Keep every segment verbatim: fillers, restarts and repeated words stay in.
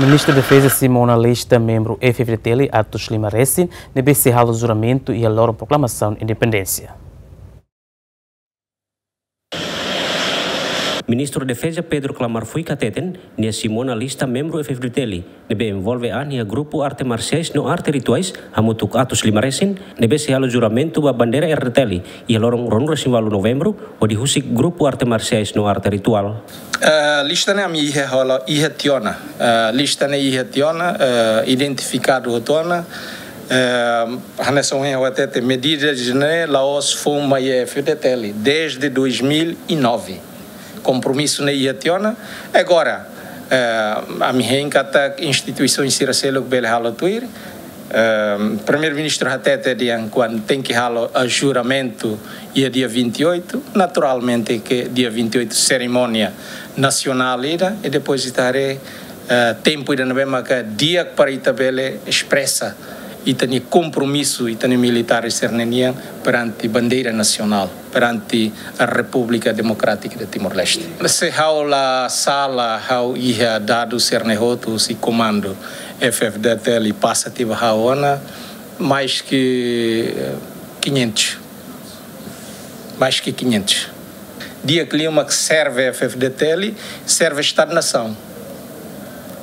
Ministru Defeza simu ona lista membru F-FDTL atus lima resin ne'ebé sei halo juramentu iha loron proklamasaun independénsia. Ministru Defeza Pedro Klamar Fuik hateten, nia simu ona lista membru F-FDTL ne'ebé envolve an iha grupu arte marsiais no arte rituais hamutuk atus lima resin ne'ebé sei halo juramentu ba bandeira R D T L iha loron ruanulu-resin-ualu Novembru, hodi husik grupu arte marsiais no arte rituál. Eh, lista ne'e ami iha hola, iha tiha ona. Eh, lista ne'e iha tiha ona, eh, identifikadu hotu ona. Eh, hanesan ohin ha'u hatete, medidas ne'e la'ós foun mai F-FDTL desde dois mil e nove. Kompromisu ne'e iha tiha ona. Agora, eh, ami hein katak instituisaun sira seluk bele halo tuir. Eh, Primeiru-Ministru hatete dehan kuandu tenke halo, eh, juramentu iha dia vinte e oito, naturalmente ke dia vinte e oito serimónia nasionál ida, i depois ita haree, eh, tempu ida ne'ebé maka di'ak para ita bele espresa ita-nia kompromisu, ita-nia militár sira-ne'e nian perante bandeira nasionál, perante Repúblika Demokrátika de Timor-Leste. Se ha'u la sala, ha'u iha dadus sira-ne'e hotu husi komandu F-FDTL pasa tiha ba ha'u ona, mais que, eh, quinhentos. Mais que quinhentos. Di'ak liu mak serve F-FDTL, serve Estadu-Nasaun.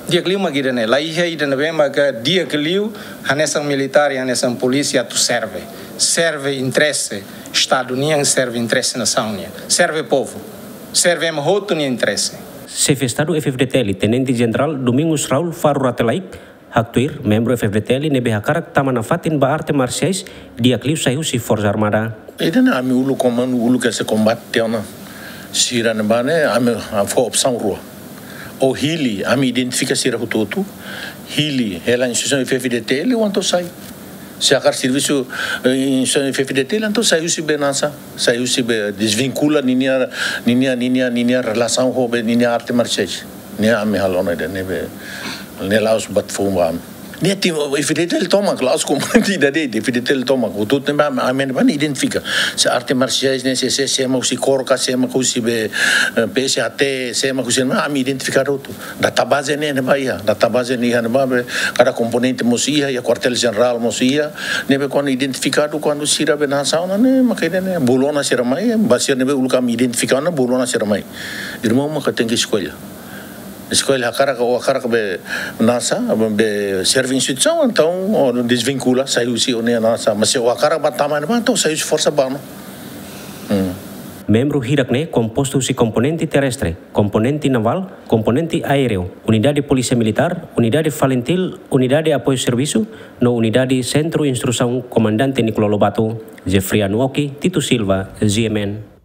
Di'ak liu mak ida-ne'e, la iha ida ne'ebé maka di'ak liu, hanesan militár, hanesan polísia atu serve. Serve interese Estadu nian, serve interese nasaun nian. Serve povu. Serve ema hotu nia interese. Xefe Estadu F-FDTL, Tenente Jenerál Domingos Raul Faro Rate Laek, haktuir membru F-FDTL ne'ebé hakarak tama nafatin ba arte marsiais di'ak liu sai husi Forsa Armada. Ida-ne'e ami uluk komandu, uluk ese kombate tiha ona. Sira ne'ebá ne'e ami fó opsaun rua. Ou hili, ami identifika sira hotu-hotu. Hili, hela instituisaun F-FDTL, entaun sai. Se hakarak servisu, eh, instituisaun F-FDTL, entaun sai husi be nasa, sai husi be, dezvinkula ninia, ninia, ninia, ninia relasaun ho be ninia arte marsiais. Ne'e ami halo ona ida-ne'e be, ne'e la'ós buat foun ba ami. Ne'e ti F-FDTL tomak, la'ós komponente ida de'it, F-FDTL tomak. Hotu-hotu ne'ebá ami, ami ne'ebá ne'e identifika. Se arte marsiais ne'e, se, se, se ema husi KOR ka, se ema husi be, eh, P S H T, se ema husi ne'ebá, ami identifika hotu. Database ne'e, ne'ebá iha, database ne'e iha ne'ebá be, kada komponente mós iha, iha kuartél jenerál mós iha, ne'ebé kuandu identifikadu, kuandu sira be nasaun ne'e, maka ida-ne'e, bolu ona sira mai, ba sira ne'ebé uluk ami identifika ona, bolu ona sira mai. Irmaun maka tenke eskolla. Eskolla hakarak, ou hakarak be nasa, be serve instituisaun, entaun, ou dezvinkula, sai husi ó-nia nasa. Mas se ó hakarak ba tama ne'ebá, entaun sai husi forsa bá ona. Hmm. Membru hirak ne'e kompostu husi komponente terrestre, komponente navál, komponente aéreu, unidade polísia militár, unidade FALINTIL, unidade apoiu servisu, no unidade sentru instrusaun Komandante Nicolau Lobato. Jeffriano Oki, Tito Silva, G M N.